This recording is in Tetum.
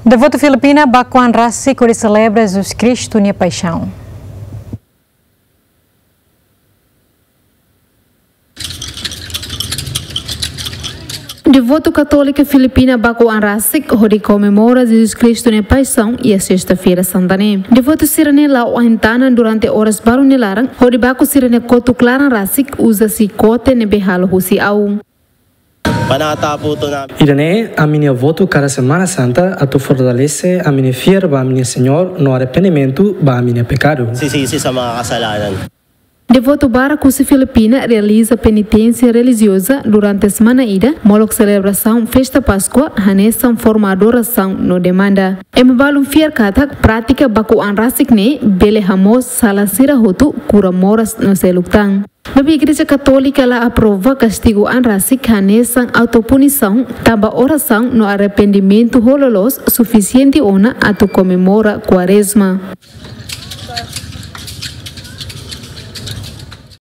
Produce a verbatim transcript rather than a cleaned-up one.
Devotu Filipina baku an rasik hodi selebra Jesus Kristu nia paixaun. Devotu Katólika Filipina baku an rasik hodi komemora Jesus Kristu nia paixaun iha Sesta-feira Santa ne'e. Devotu sira-ne'e la'o ain-tanan durante oras balu nia laran hodi baku sira-nia kotuk laran rasik uza xikote ne'ebé halo husi au. Panata putu na. Ida-ne'e ami-nia votu kada Semana Santa atu fortalese ami-nia fiar ba ami-nia Señór no arrependimentu ba ami-nia pekadu. Sisi, sisi sama kasalanan. Devotu barak husi Filipina realiza peniténsia relijioza durante semana ida, molok selebrasaun festa Páskua, hanesan forma adorasaun no demanda. Ema balun fiar katak prátika baku an rasik ne'e bele hamoos sala sira hotu, kura moras no seluk tan. Maibé Igreja Katólika la aprova kastigu an rasik hanesan autopunisaun, tanba orasaun no arrependimentu ho loloos sufisiente ona atu komemora Kuarezma.